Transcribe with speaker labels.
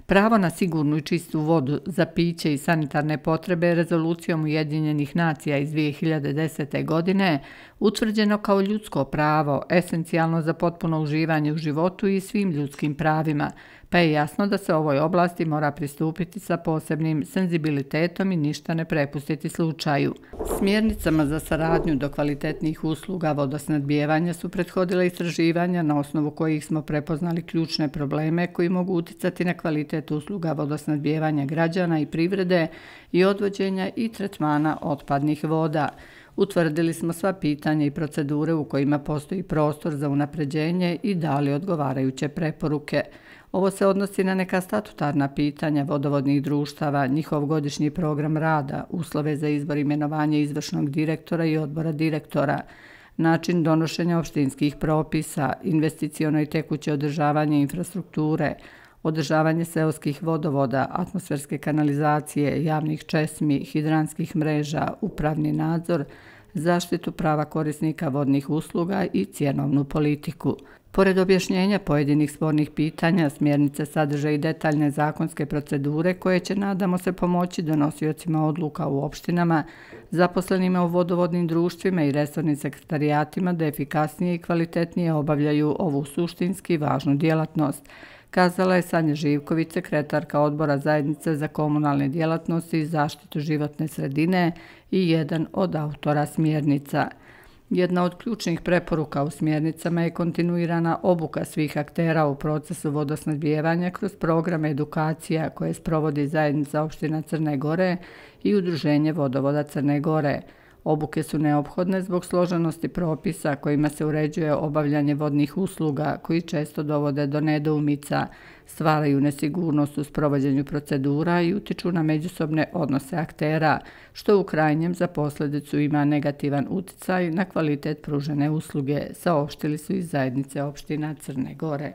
Speaker 1: Pravo na sigurnu i čistu vodu za piće i sanitarne potrebe Rezolucijom Ujedinjenih nacija iz 2010. godine utvrđeno kao ljudsko pravo, esencijalno za potpuno uživanje u životu i svim ljudskim pravima, pa je jasno da se ovoj oblasti mora pristupiti sa posebnim senzibilitetom i ništa ne prepustiti slučaju. Smjernicama za saradnju do kvalitetnih usluga vodosnabdijevanja su prethodila istraživanja na osnovu kojih smo prepoznali ključne probleme koji mogu uticati na kvalitet usluga vodosnabdijevanja građana i privrede i odvođenja i tretmana otpadnih voda. Utvrdili smo sva pitanja i procedure u kojima postoji prostor za unapređenje i dali odgovarajuće preporuke. Ovo se odnosi na neka statutarna pitanja vodovodnih društava, njihov godišnji program rada, uslove za izbor imenovanja izvršnog direktora i odbora direktora, način donošenja opštinskih propisa, investiciono i tekuće održavanje infrastrukture, održavanje seoskih vodovoda, atmosferske kanalizacije, javnih česmi, hidranskih mreža, upravni nadzor, zaštitu prava korisnika vodnih usluga i cjenovnu politiku. Pored objašnjenja pojedinih spornih pitanja, smjernice sadrže i detaljne zakonske procedure koje će, nadamo se, pomoći donosiocima odluka u opštinama, zaposlenima u vodovodnim društvima i resornim sekretarijatima da efikasnije i kvalitetnije obavljaju ovu suštinski važnu djelatnost, kazala je Sanja Živković, sekretarka Odbora zajednice za komunalne djelatnosti i zaštitu životne sredine i jedan od autora smjernica. Jedna od ključnih preporuka u smjernicama je kontinuirana obuka svih aktera u procesu vodosnabdijevanja kroz programe edukacija koje sprovodi Zajednica opština Crne Gore i Udruženje vodovoda Crne Gore. Obuke su neophodne zbog složenosti propisa kojima se uređuje obavljanje vodnih usluga koji često dovode do nedoumica, stvaraju nesigurnost u sprovođenju procedura i utiču na međusobne odnose aktera, što u krajnjem za posljedicu ima negativan uticaj na kvalitet pružene usluge, saopštili su iz Zajednice opština Crne Gore.